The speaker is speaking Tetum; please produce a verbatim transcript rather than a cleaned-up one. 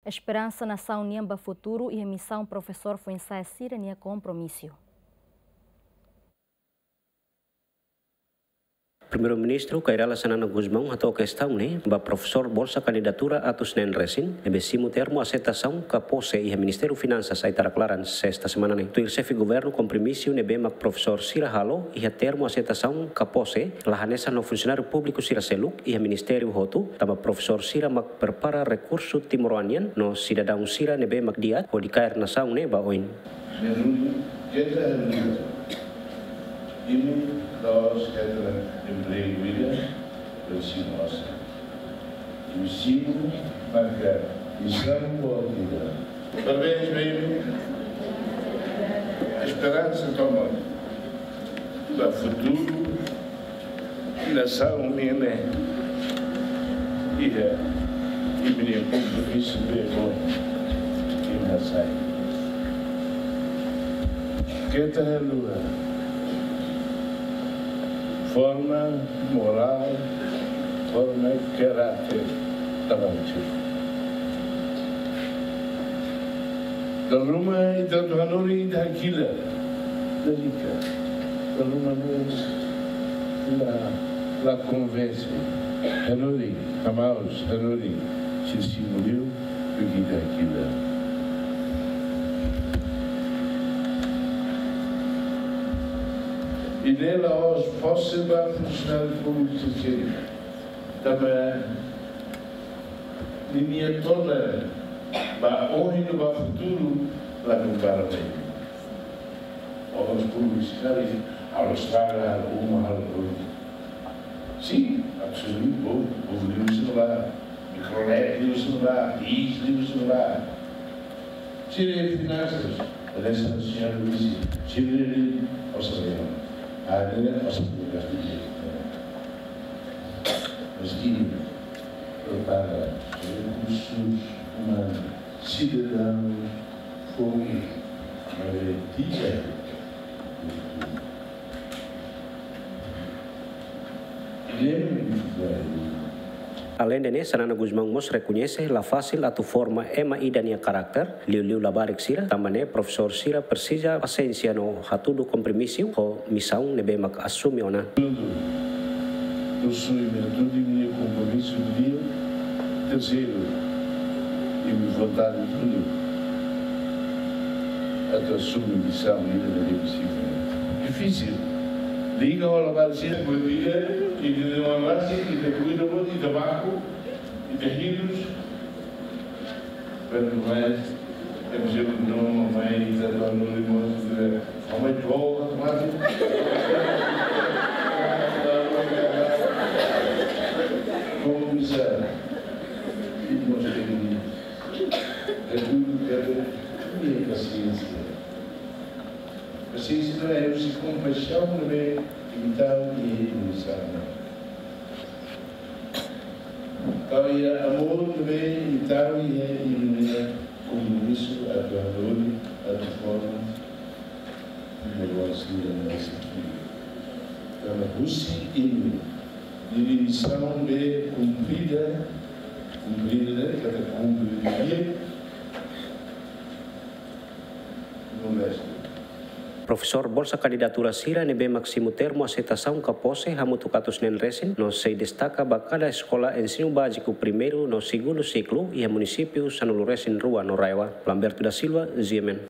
esperansa nasaun nian ba futuru iha misaun profesór foin-sa'e sira-nia kompromisu. Primeiru-Ministru Kay Rala Xanana Gusmão hato'o kestaun ne'e ba profesór bolsa kandidatura atus neen resin ne'ebé simu termu aseitasaun ka pose iha Ministériu Finansas Aitarak Laran, sesta semana ne'e. Tuir xefe governu, kompromisu ne'ebé mak profesór sira halo iha termu aseitasaun ka pose la hanesan ho funsionáriu públiku sira seluk iha ministériu hotu, tanba profesór sira mak prepara rekursu timoroan nian no sidadaun sira ne'ebé mak di'ak hodi kaer nasaun ne'e ba oin. Menunu, keta haluha. Imi la'ós hetan empregu ida, bele simu osan. Imi simu maka misaun boot ida. Parabéns ba imi. Esperansa tomak ba futuru nasaun nian ne'e iha imi-nia kompromisu be bom imi hasai. Keta haluha. Forma morál, forma karáter traballu. Dala ruma ita atu hanorin ita hakilar. Lalika. Dala ruma ne'e la, la konvense. Hanorin, hamaus, hanorin. Sira simu liu, bele ita hakilar. I ne'e la'ós pose ba funsionáriu públiku sira. Tanba ninia todan ba ohin no ba futuru la kompara ba imi. Órgaun públiku sira halo estrada, halo uma, halo rua. Sin, absolutu, povu, povu liu sira ba, Mikrolet liu sira ba, Bis liu sira ba. Sira finansas, hanesan señór disse, sira orsamentu. Ah, ne'e orsamentu gastu. Mas imi prepara rekursus umanus, sidadaun, foin, maioria. Aleinde ne'e, Xanana Gusmão mós rekoñese la fasil atu forma ema ida nia karáter, liuliu labarik sira, tanba ne'e profesór sira presiza pasiénsia no hatudu kompromisu ho misaun ne'ebé mak asume ona. Husu imi atu imi-nia kompromisu di'ak. Terseiru, imi vontade tolu atu asume misaun ida ne'ebé imposivel. Difisil. Liga ho labarik sira, bom dia, ita-nia oan rasik, ita kuida boot, ita baku, ita hirus. Quanto mais temos eu que não, mamãe, ita atu hanorin mós, mamãe, boa, mas como começar? E nós temos, é tudo, é tudo, é pasiénsia. Pasiénsia ne'e husi kompaixaun ne'ebé imi tau iha imi-nia misaun. Tau iha amór ne'ebé imi tau iha imi-nia kompromisu atu hanorin, atu forma, imi-nia oan sira ne'e. Tanba husi imi, imi-nia misaun ne'ebé kumprida, kumprida, katak kumprida, no restu. Profesór bolsa kandidatura sira ne'ebé mak simu termu aseitasaun ka pose hamutuk atus neen resin, no sei destaka ba kada eskola ensinu báziku primeiru no segundu siklu iha munisípiu sanulu resin rua no RAEOA. Lamberto da Silva, G M N.